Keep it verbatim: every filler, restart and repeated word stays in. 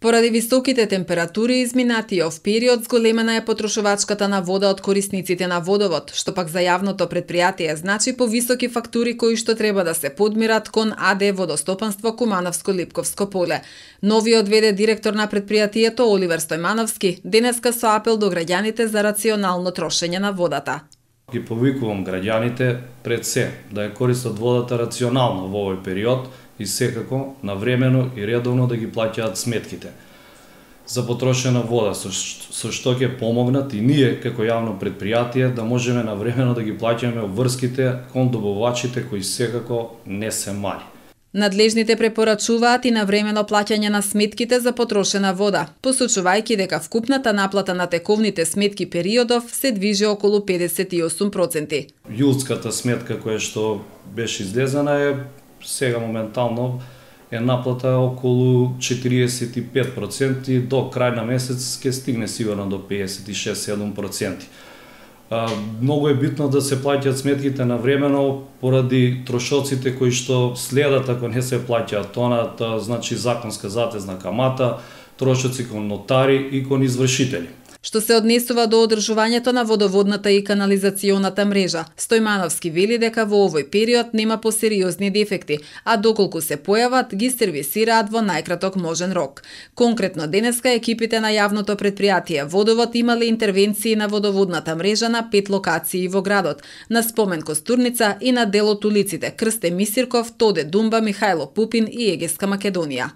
Поради високите температури изминатиот период зголемена е потрошувачката на вода од корисниците на водовод, што пак за јавното предпријатие значи повисоки фактури кои што треба да се подмират кон АД Водостопанство Кумановско-Липковско поле. Новиот ве-де директор на предпријатието Оливер Стојмановски денеска со апел до граѓаните за рационално трошење на водата. Ги повикувам граѓаните пред се да ја користат водата рационално во овој период и секако навремено и редовно да ги плаќаат сметките за потрошена вода, со, со што ќе помогнат и ние како јавно предпријатие да можеме навремено да ги плаќаме обврските кон добавачите кои секако не се мали. Надлежните препорачуваат и навремено плаќање на сметките за потрошена вода, посочувајќи дека вкупната наплата на тековните сметки периодов се движи околу педесет и осум проценти. Јулската сметка која што беше излезена е сега моментално е наплата околу четириесет и пет проценти, до крај на месец ќе стигне сигурно до педесет и шест до седум проценти. Многу е битно да се плаќаат сметките навремено поради трошоците кои што следат ако не се плаќаат тоната, значи законска затезна камата, трошоци кон нотари и кон извршители. Што се однесува до одржувањето на водоводната и канализационата мрежа, Стојмановски вели дека во овој период нема посериозни дефекти, а доколку се појават, ги сервисираат во најкраток можен рок. Конкретно денеска екипите на јавното предпријатие Водовод имале интервенции на водоводната мрежа на пет локации во градот, на Спомен Костурница и на дел од улиците Крсте Мисирков, Тоде Думба, Михајло Пупин и Егеска Македонија.